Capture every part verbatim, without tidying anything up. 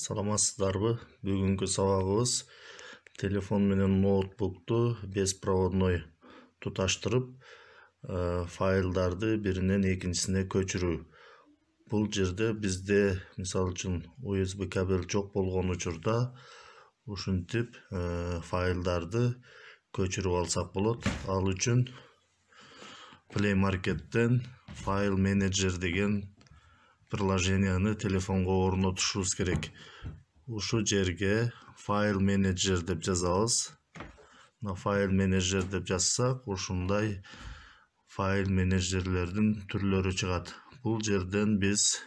Саламатсыздарбы? Бүгүнкү сабагыбыз телефон менен ноутбукту беспроводной туташтырып, файлдарды биринен экинчисине көчүрүү. Бул жерде бизде, мисалы үчүн, ю эс би кабель жок болгон учурда ушинтип файлдарды көчүрүп алсак болот. Ал үчүн Play Market'тен файл менеджер деген приложенияны телефонго орнотушубуз керек. Ушу жерге файл менеджер деп жазабыз. На файл менеджер деп жазсак, ушундай файл менеджерлердин түрлөрү чыгат. Бул жерден биз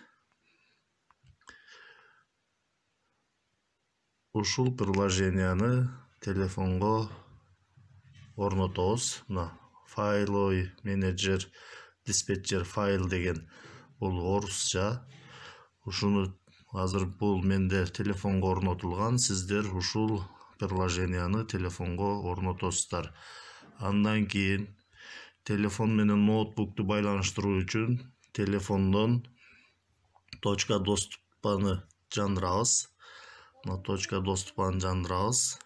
ушул приложенияны телефонго орнотобуз. На файловый менеджер диспетчер файл деген бул орусча. Ушуну азыр бул менде телефонго орнотулган. Сиздер ушул приложенияны телефонго орнотосуздар. Андан кийин телефон менен ноутбукту байланыштыруу үчүн телефондон точка доступаны жандырабыз. На точка доступаны жандырабыз.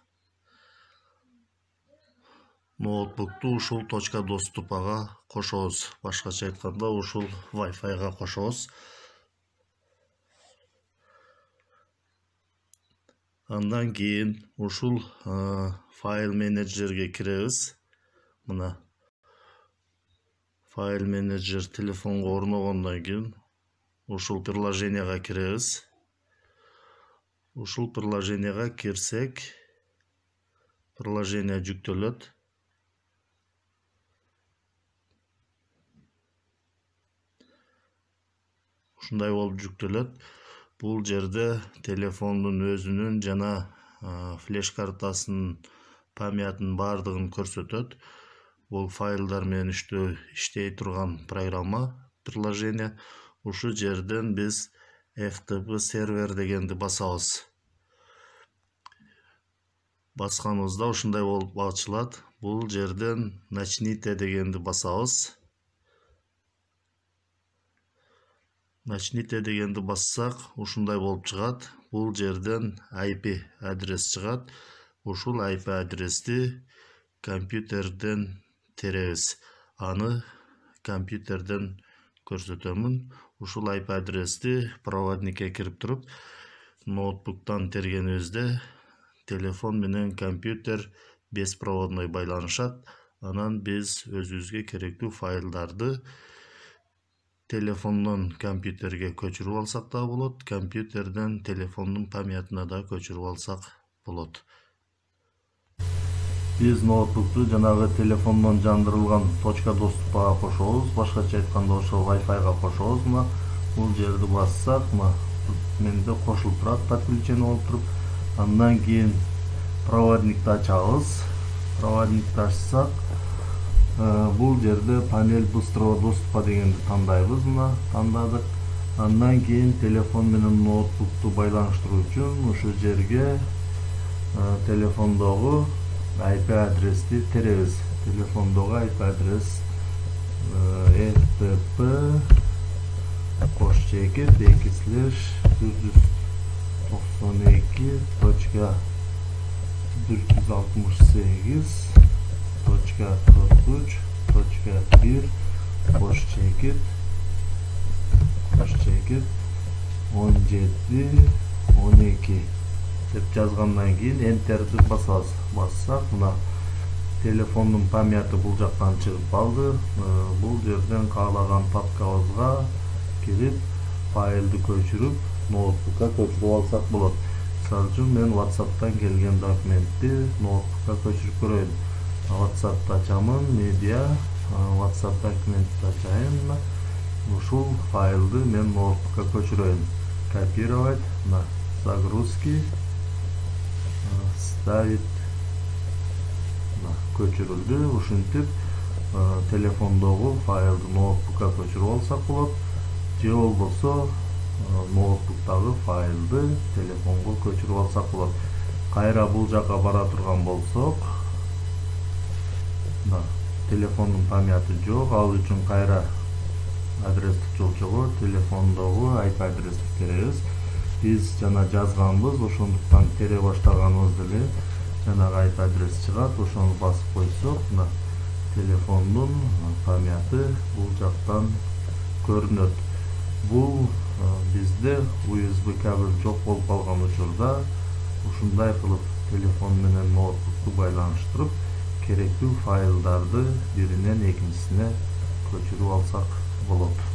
Ноутбукту ушул точка доступага кошобуз. Башкача айтканда, ушул Wi-Fi-га кошобуз. Андан кийин ушул файл менеджерге киребиз. Мына файл менеджер телефонго орногондон кийин ушул приложенияга киребиз. Ушул приложенияга кирсек, приложение жүктөлөт. Ушундай болуп жүктөлөт. Бул жерде телефондун өзүнүн жана флеш картасынын памятынын бардыгын көрсөтөт. Бул файлдар менен иштей турган программа, приложение. Ушу жерден биз эф тэ пэ сервер дегенди басабыз. Басканыбызда ушундай болуп ачылат. Бул жерден начните дегенди басабыз. Начните дегенди бассак, ушундай болуп чыгат. Бул жерден ай пи адрес чыгат. Ушул ай пи адрести компьютерден теребиз. Аны компьютерден көрсөтөмүн. Ушул ай пи адрести проводникке кирип туруп, ноутбуктан тергенибизде телефон менен компьютер беспроводной байланышат. Анан биз өзүбүзгө керектүү файлдарды телефондон компьютерге көчүрүп алсак да болот, компьютерден телефондун памятына да көчүрүп алсак болот. Биз ноутбукту жанагы телефондон жандырылган точка доступка кошобуз. Башкача айтканда, ошол Wi-Fi-га кошобуз. Мына бул жерди бассак, мына менде кошулуп турат, подключение болуп туруп. Андан кийин проводникти ачабыз. Проводникти ачсак, бул жерде панель быстрого доступа дегенди тандайбыз. Мына тандадык. Андан кийин телефон менен ноутбукту байланыштыруу үчүн ушу жерге телефондогу ай пи адрести теребиз. Телефондогу ай пи адрес эф тэ пэ кош чекит эки слеш төрт жүз токсон эки точка бир жүз алтымыш сегиз точка кырк үч точка бир кош чекит кош чекит он жети он эки деп жазгандан кийин энтерди басабыз. Бассак, мына телефондун памяты бул жактан чыгып калды. Бул жерден каалаган папкабызга кирип, файлды көчүрүп, ноутбукка көчүрүп алсак болот. Мисалы үчүн, мен WhatsApp'тан келген документти ноутбукка көчүрүп көрөйүн. WhatsApp'ты ачамын, медиа, WhatsApp документти ачайын. Ушул файлды мен ноутбукка көчүрөйүн. Копировать, на загрузки, ставить, көчүрүлдү. Ушинтип телефондогу файлды ноутбукка көчүрүп алсак болот. Же болбосо ноутбуктагы файлды телефонго көчүрүп алсак болот. Кайра бул жака бара турган болсок, телефондун памяты жок. Ал үчүн кайра адрестик жолчого телефондогу ай пи адрести теребиз. биз жана жазганбыз, ошондуктан тере баштаганыбызда эле жанагы ай пи адрес чыгат. Ошону басып койсок, мына телефондун памяты бул жактан көрүнөт. Бул бизде ю эс би кабель жок болуп калган учурда ушундай кылып телефон менен ноутбукту байланыштырып, керектүү файлдарды биринен экинчисине көчүрүп алсак болот.